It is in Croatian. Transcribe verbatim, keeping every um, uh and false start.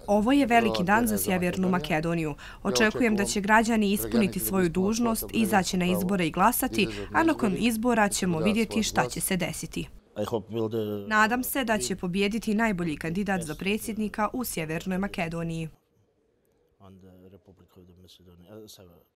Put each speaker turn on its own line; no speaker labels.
Ovo je veliki dan za Sjevernu Makedoniju. Očekujem da će građani ispuniti svoju dužnost, izaći na izbore i glasati, a nakon izbora ćemo vidjeti šta će se desiti. Nadam se da će pobijediti najbolji kandidat za predsjednika u Sjevernoj Makedoniji.